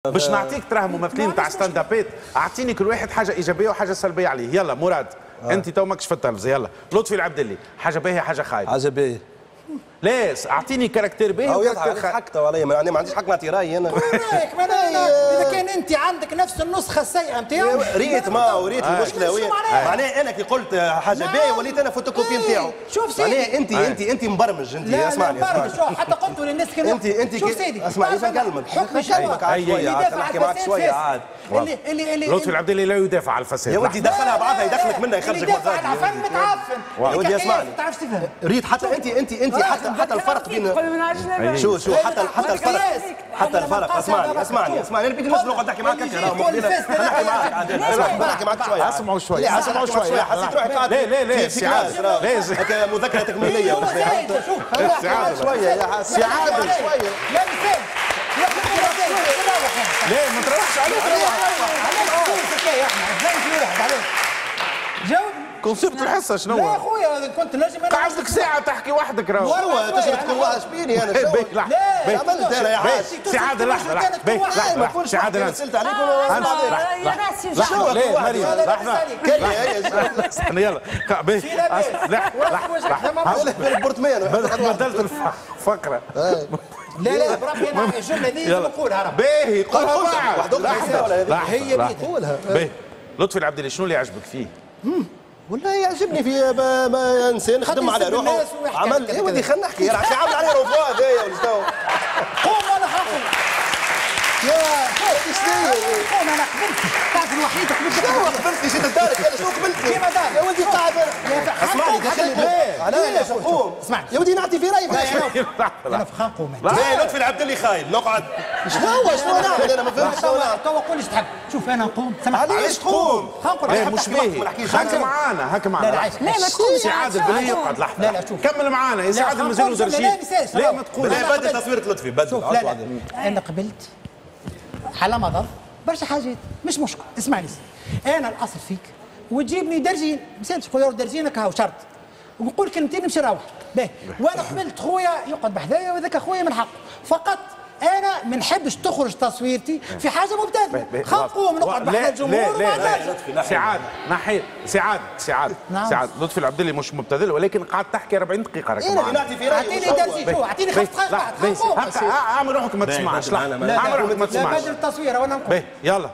باش نعطيك تراه ممثلين تاع stand-up ات، اعطيني كل واحد حاجة ايجابية وحاجه سلبية عليه. يلا مراد، انت تو ماكش في التلفزة. يلا لطفي العبدلي، حاجة باهيه حاجة خايبة. حاجة باهيه. لا اعطيني caractère باهي و و caractère خايب. حق تو عليا، ما عنديش حق نعطي رايي انا. رايك اذا كان انت عندك نفس النسخة السيئة نتاعو. ريت ما وريت المشكلة وين معناها. انا كي قلت حاجة باهيه وليت انا فوتوكوبي نتاعو. شوف سيدي، معناها انت انت انت مبرمج انت. اسمعني اسمعني، حتى قلت للناس كانوا انت شوف سيدي، اسمعني باش نكلمك، نكلمك عاد شوية، نحكي معاك شوية عاد. اللي لطفي العبدلي لا يدافع على الفساد يا ودي، دخلها بعضها يدخلك منها يخرجك من غادي. يدافع متعفن يا ودي، اسمعني، ريت حتى انت انت انت حتى الفرق بين شو شو حتى الفرق، حتى الفرق. اسمعني اسمعني اسمعني، انا بدي نقعد نحكي معاك هكا، نحكي معاك عاد، نحكي معاك شوية. اسمعوا شوية، اسمعوا شوية. حسيت روحي قاعد لا لا لا في classe، هكا مذكره تكميليه ولا شوية يا سي عادل شوية. لا مثال، لا ما تروحش عليك. جاوب concept الحصة شنو؟ لا خويا كنت نجم انا قعدت لك ساعة تحكي وحدك راهو. شنو تشرد كل واحد شبيني انا؟ شنو عملت انا يا حاج؟ سي عادل لحظة لحظة لحظة، سي عادل سالت عليكم. لحظة، لا مريم لحظة، استنى يلا لحظة، البرطمان بدلت الفقرة. لا لا بربي انا الجملة دي نقولها. باهي قولها بعد، لحظة هي بيدها قولها. باهي لطفي العبدلي، شنو اللي عجبك فيه؟ والله يعجبني في ما انسان خدم على روحه عمل. يا ودي خلينا نحكي، راح عامل عليه رفاه هذايا ولا شنو؟ قوم انا حقوم يا شنو؟ قوم انا قبلت، تعرف الوحيد قبلت. شنو قبلتني؟ جيت لدارك انا، شنو قبلتني؟ كيما دار يا ولدي قاعد. اسمعني دخلني علاش نقوم؟ اسمعني يا ودي نعطي في رايي. انا فخان قوم. لا لطفي العبدلي خايب نقعد. شنو شنو نعمل انا؟ ما فهمتش شنو نعمل. توا قول ايش تحب. شوف انا نقوم. علاش تقوم؟ لا مش باهي، هاك معانا هاك معانا. لا لا ما تقومش سي عادل بالله يقعد لحظة. لا لا شوف كمل معانا يا سي عادل، مازالوا درجين. لا ما تقولش. لا بدل تصويرة لطفي بدل. لا لا انا قبلت على مضض برشا حاجات مش مشكل. اسمعني انا الاصل فيك وتجيبني درجين، ما سالش خويا درجينك هاو شرط، ونقول كلمتين نمشي نروح. باهي وانا قبلت خويا يقعد بحذايا وذاك خويا من حقه، فقط انا ما نحبش تخرج تصويرتي في حاجة مبتذله. خلينا نقوم نقعد بحذا الجمهور. لا لا لا سي عادل نحي، سي عادل سي عادل سي عادل، لطفي العبدلي مش مبتذل ولكن قعدت تحكي 40 دقيقة. راك انا اللي نعطي في رايي. اعطيني درجي، شو اعطيني 5 دقائق بعد. اعمل روحك ما تسمعش، اعمل روحك ما تسمعش. لا بدل التصويره وانا نقوم. يلا